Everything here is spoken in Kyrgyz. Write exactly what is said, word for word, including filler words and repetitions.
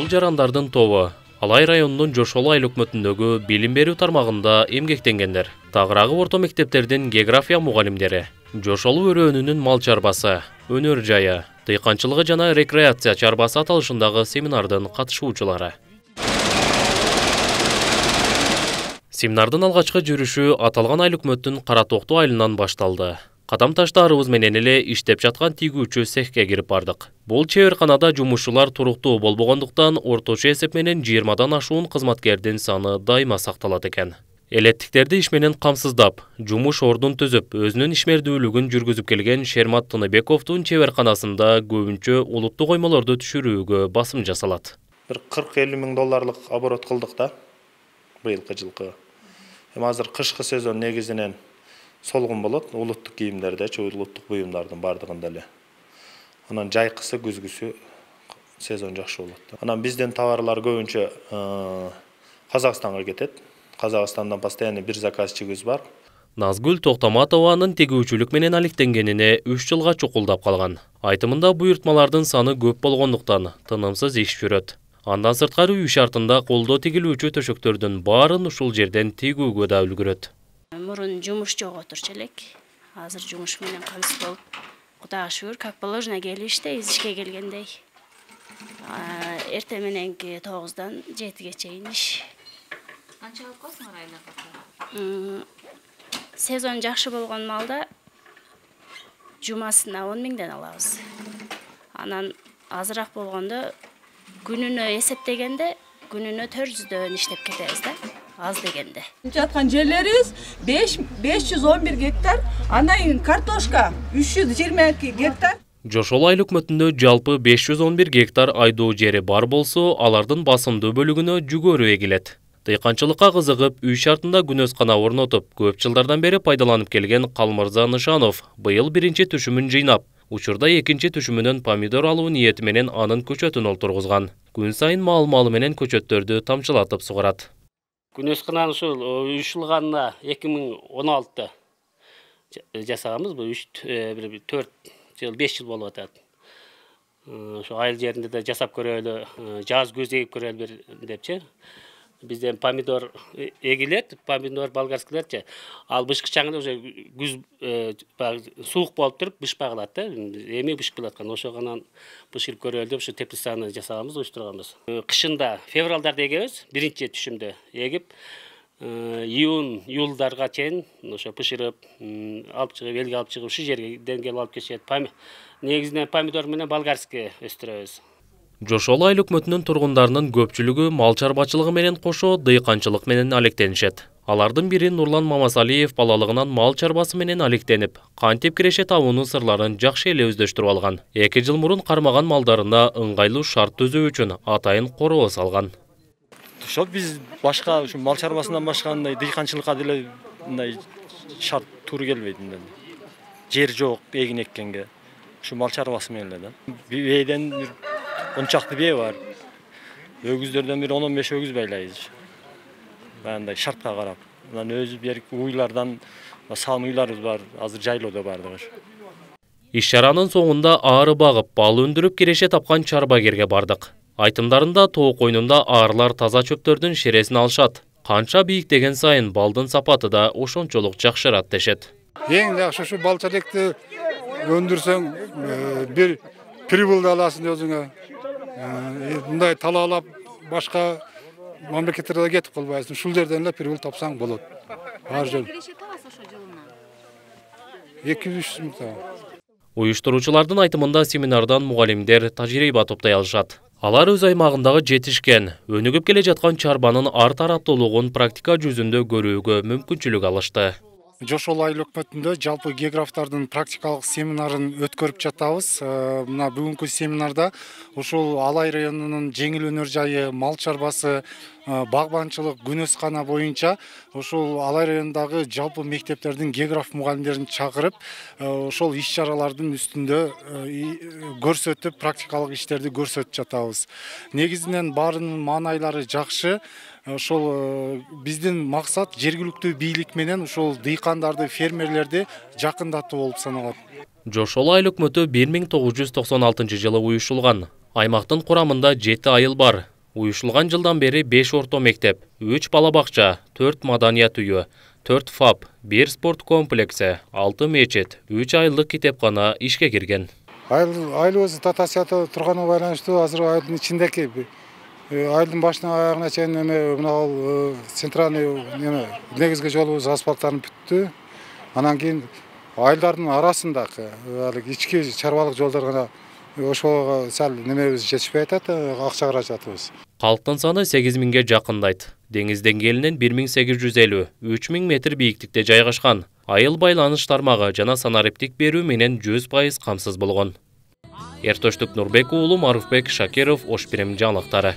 Бул жарандардын тобу Алай районунун Жошол айыл өкмөтүндөгү билим берүү тармагында эмгектенгендер. Тагыраагы орто мектептердин география мугалимдери, Жошол өрөөнүнүн мал чарбасы, өнөр жайы, дыйканчылыгы жана рекреация чарбасы аталышындагы семинардын катышуучулары. Семинардын алгачкы жүрүшү аталган айыл өкмөттүн Кара Токту айылынан башталды. Кадам таштаарыбыз менен эле иштеп жаткан тигүүчү цехке кирип бардык. Бул чеберканада жумушчулар туруктуу болбогондуктан орточо эсеп менен жыйырмадан ашуун кызматкердин саны дайыма сакталат экен. Элеттиктерди иш менен камсыздап, жумуш ордун түзүп, өзүнүн ишмердүүлүгүн жүргүзүп келген Шермат Тыныбековдун чеберканасында көбүнчө улуттук коймолорду түшүрүүгө басым жасалат. Бир кырк элүү миң долларлык оборот кылдык да быйылкы жылкы. Эми азыр кышкы сезон негизинен солгун болот, улуттук кийимдерде, улуттук буюмдардын бардыгында эле. Анан жайкысы, күзгүсү сезон жакшы болот. Анан бизден товарлар көбүнчө Казакстанга кетет. Казакстандан постоянно бир заказчигибиз бар. Назгүл Токтоматованын тегүүчүлүк менен алектенгенине үч жылга чукулдап калган. Айтымында буйртмалардын саны көп болгондуктан тынымсыз иш жүрөт. Андан сырткары үй шартында колдо тигилүүчү төшөктөрдүн баарын ушул жерден тигүүгө да үлгүрөт. Мурун жумуш жок отурчу элек. Азыр жумуш менен камсыз болуп, Кудайга шүгүр, как положено келиштейбиз ишке келгендей. Эрте мененки тогуздан жетиге чейин иш. Канча алып коесуңар айлап? Сезон жакшы болгон малда жумасына он миңден алабыз. Анан азыраак болгондо күнүнө эсептегенде күнүнө төрт жүздөн иштеп кетебиз да. Az degende. Жаткан жерлерибиз беш жүз он бир гектар, андан кийин картошка үч жүз жыйырма эки гектар. Жошол айыл өкмөтүндө жалпы беш жүз он бир гектар айдоо жери бар болсо, алардын басымдуу бөлүгүнө жүгөрү эгилет. Дыйканчылыкка кызыгып, үй шартында күнөскана орнотуп, көп жылдардан бери пайдаланып келген Калмырза Нышанов быйыл биринчи түшүмүн жыйнап, учурда экинчи түшүмүнөн помидор алуу ниети менен анын көчөтүн олтургузган. Күн сайын мал-малы менен көчөттөрдү тамчылатып сугарат. Күнөскананы ушул уюшулганына эки миң он алтыда жасаганбыз. Бул төрт жыл, беш жыл болуп атат. Ошо айыл жеринде да жасап көрөлү, жаз көз эгип көрөлү депчи. Бизден помидор эгилет, помидор болгарскилерчи. Ал бышкычаңда уже күз суук болуп туруп бышпагылат да. Эми бышкып аткан. Ошоганан бышкырып көрөлү деп ушу теплицаны жасаганбыз, уюштурганбыз. Кышында февралдарда эгебиз, биринчи түшүмдө эгип, июнь, июлдарга чейин ошо бышырып, алып чыгып, элге алып чыгып, ушу жерден келип алып кетишет. Негизинен помидор менен болгарский өстүрөбүз. Жошол айыл өкмөтүнүн тургундарынын көпчүлүгү мал чарбачылыгы менен кошо дыйканчылык менен алектенишет. Алардын бири Нурлан Мамасалиев балалыгынан мал чарбасы менен алектенип, кантип киреше табуунун сырларын жакшы эле өздөштүрүп алган. Эки жыл мурун кармаган малдарына ыңгайлуу шарт түзүү үчүн атайын короо салган. Ошо биз башка ушу мал чарбасынан башка андай дыйканчылыкка деле мындай шарт туура келбейт мындай. Жер жок эгин эккенге. Ушу мал чарбасы менен эле да. Бейден он чакты бээ бар. Өгүздөрдөн бир он он беш өгүз байлайбыз. Мындай шартка карап. Анан өзү берки уйлардан салым уйларыбыз бар. Азыр жайлоодо бардыгы. Иш чаранын соңунда аары багып, бал өндүрүп киреше тапкан чарбагерге бардык. Айтымдарында тоо койнунда аарылар таза чөптөрдүн шересин алышат. Канча бийиктеген сайын балдын сапаты да ошончолук жакшырат дешет. Эң жакшы ушу балчалекти өндүрсөң бир прибылды аласың өзүңө. Мындай талаалап башка мамлекеттерге кетип калбайсың. Ушул жерден эле прибыл тапсаң болот. Ар жер. эки жүз үч миң табам. Уюштуруучулардын айтымында семинардан мугалимдер тажрыйба топтой алышат. Алар өз аймагындагы жетишкен, өнүгүп келе жаткан чарбанын ар тараптуулугун практика жүзүндө көрүүгө мүмкүнчүлүк алышты. Жошол айыл өкмөтүндө жалпы географтардын практикалык семинарын өткөрүп жатабыз. Мына бүгүнкү семинарда ушул Алай районунун жеңил өнөр жайы, мал чарбасы, багбанчылык, күнөскана боюнча ушул Алай районундагы жалпы мектептердин географ мугалимдерин чакырып, ошол иш чаралардын үстүндө көрсөтүп, практикалык иштерди көрсөтүп жатабыз. Негизинен баарынын маанайлары жакшы. Ошол биздин максат жергиликтүү бийлик менен ушул дыйкандарды, фермерлерди жакындатуу болуп саналат. Жошол айыл өкмөтү бир миң тогуз жүз токсон алтынчы жылы уюшулган. Аймактын курамында жети айыл бар. Уюшулган жылдан бери беш орто мектеп, үч бала бакча, төрт маданият үйү, төрт фаб, бир спорт комплекси, алты мечит, үч айылдык китепкана ишке кирген. Айылыбыз дотацияда турганы байланыштуу азыр айылдын ичиндеки айылдын башынан аягына чейин эме мына центральный эме негизги жолубуз асфальттанып бүттү. Анан кийин айылдардын арасындагы ички чарбалык жолдор гана ошого сал немебиз жетишпей атат, акча каражатыбыз. Калктын саны сегиз миңге жакындайт. Деңиз деңгээлинен бир миң сегиз жүз элүү, үч миң метр бийиктикте жайгашкан. Айыл байланыш тармагы жана санариптик берүү менен жүз пайыз камсыз болгон. Эртөштүк Нурбек уулу, Маруфбек Шакиров, Ош Бирим жаңылыктары.